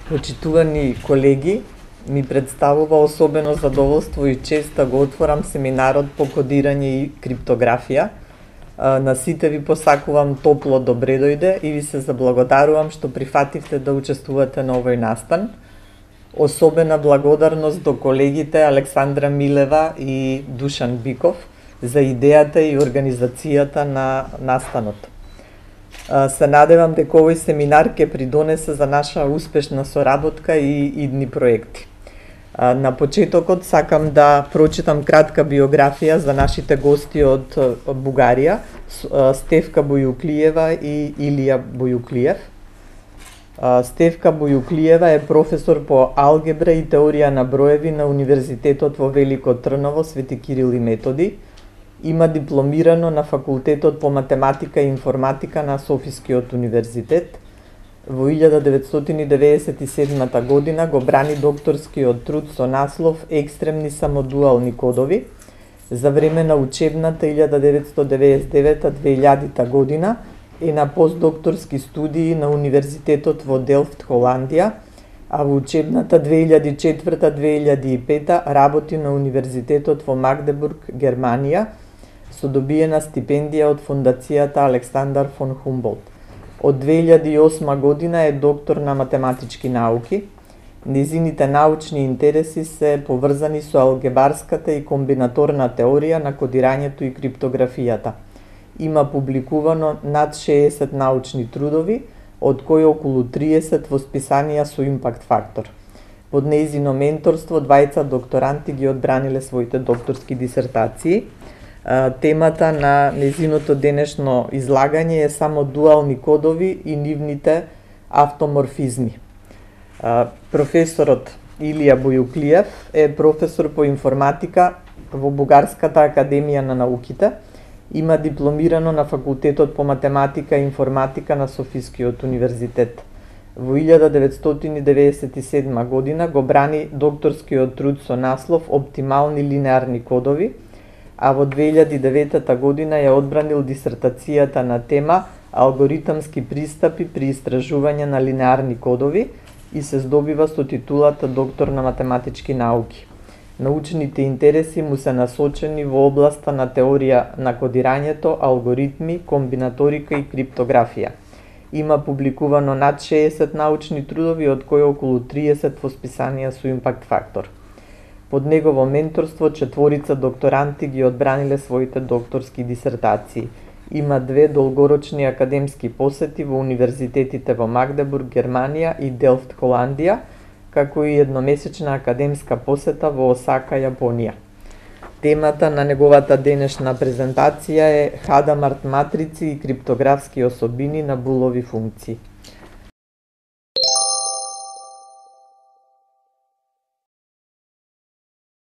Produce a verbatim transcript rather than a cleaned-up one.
Почитувани колеги, ми представува особено задоволство и чест да го отворам семинарот по кодирање и криптографија. На сите ви посакувам топло добре дојде и ви се заблагодарувам што прифативте да учествувате на овој настан. Особена благодарност до колегите Александра Милева и Душан Биков за идејата и организацијата на настанот. Се надевам дека овој семинар ќе придонесе за наша успешна соработка и идни проекти. На почетокот сакам да прочитам кратка биографија за нашите гости од Бугарија, Стефка Бојуклиева и Илија Бојуклиев. Стефка Бојуклиева е професор по алгебра и теорија на броеви на Универзитетот во Велико Трново, Свети Кирил и Методи. Има дипломирано на Факултетот по математика и информатика на Софискиот универзитет. Во илјада деветстотини деветдесет и седма година го брани докторскиот труд со наслов Екстремни самодуални кодови. За време на учебната илјада деветстотини деветдесет и девета до две илјадита година е на постдокторски студии на Универзитетот во Делфт, Холандија, а во учебната две илјади и четврта до две илјади и пета работи на Универзитетот во Магдебург, Германија, со добиена стипендија од Фондацијата Александар фон Хумболт. Од две илјади и осма година е доктор на математички науки. Незините научни интереси се поврзани со алгебарската и комбинаторна теорија на кодирањето и криптографијата. Има публикувано над шеесет научни трудови, од кои околу триесет во списанија со импакт фактор. Под нејзино менторство двајца докторанти ги одбраниле своите докторски дисертации. Темата на нејзиното денешно излагање е само дуални кодови и нивните автоморфизми. Професорот Илија Бојуклиев е професор по информатика во Бугарската академија на науките. Има дипломирано на Факултетот по математика и информатика на Софискиот универзитет. Во илјада деветстотини деветдесет и седма година го брани докторскиот труд со наслов Оптимални линеарни кодови, а во две илјади и девета година ја одбранил дисертацијата на тема Алгоритамски пристапи при истражување на линеарни кодови и се здобива со титулата доктор на математички науки. Научните интереси му се насочени во областа на теорија на кодирањето, алгоритми, комбинаторика и криптографија. Има публикувано над шеесет научни трудови, од кои околу триесет во списанија со импакт фактор. Под негово менторство четворица докторанти ги одбраниле своите докторски дисертации. Има две долгорочни академски посети во универзитетите во Магдебург, Германија и Делфт, Холандија, како и едномесечна академска посета во Осака, Јапонија. Темата на неговата денешна презентација е Хадамарт матрици и криптографски особини на булови функции.